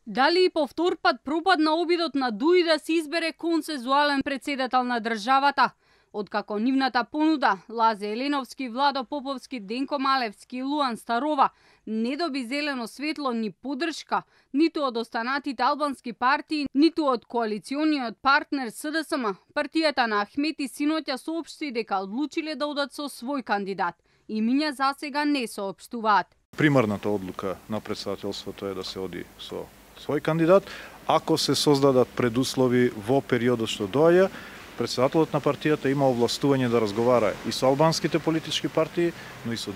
Дали и по втор пат пропадна обидот на ДУИ да се избере консензуален председател на државата? Откако нивната понуда Лазе Еленовски, Владо Поповски, Денко Малевски и Луан Старова не доби зелено светло ни поддршка, ниту од останатите албански партии, ниту од коалициониот партнер СДСМ, партијата на Ахмети синоќа соопшти дека одлучиле да одат со свој кандидат. Имиња засега не соопштуваат. Примарната одлука на председателството е да се оди со свој кандидат. Ако се создадат предуслови во периодот што доаѓа, председателот на партијата има овластување да разговара и со албанските политички партии, но и со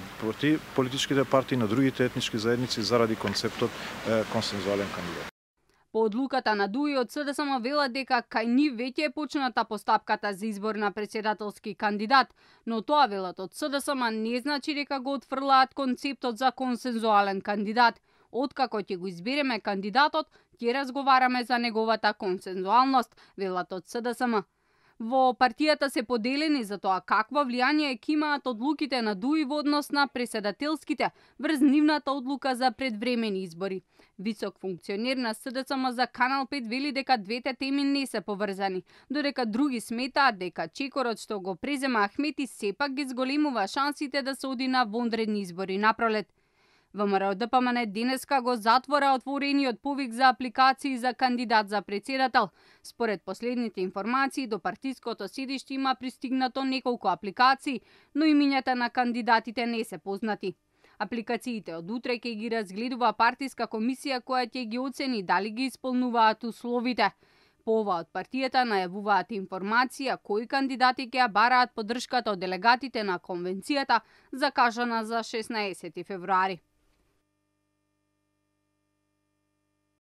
политичките партии на другите етнички заедници заради концептот консензуален кандидат. По одлуката на ДУИ од СДСМ велат дека кај нив веќе е почната постапката за избор на председателски кандидат, но тоа велат од СДСМ не значи дека го отфрлаат концептот за консензуален кандидат. Откако ќе го избереме кандидатот, ќе разговараме за неговата консензуалност, велат од СДСМ. Во партијата се поделени за тоа какво влијание ќе имаат одлуките на ДУИ во однос на преседателските врз нивната одлука за предвремени избори. Висок функционер на СДСМ за Канал 5 вели дека двете теми не се поврзани, додека други сметаат дека чекорот што го презема Ахмети сепак ги зголемува шансите да се оди на вонредни избори напролет. ВМРО-ДПМН денеска го затвора отворениот повик за апликации за кандидат за председател. Според последните информации, до партиското седиште има пристигнато неколку апликации, но имињата на кандидатите не се познати. Апликациите од утре ќе ги разгледува партиска комисија која ќе ги оцени дали ги исполнуваат условите. По ова од партијата најавуваат информација кои кандидати ќе ја бараат поддршката од делегатите на конвенцијата закажана за 16 февруари.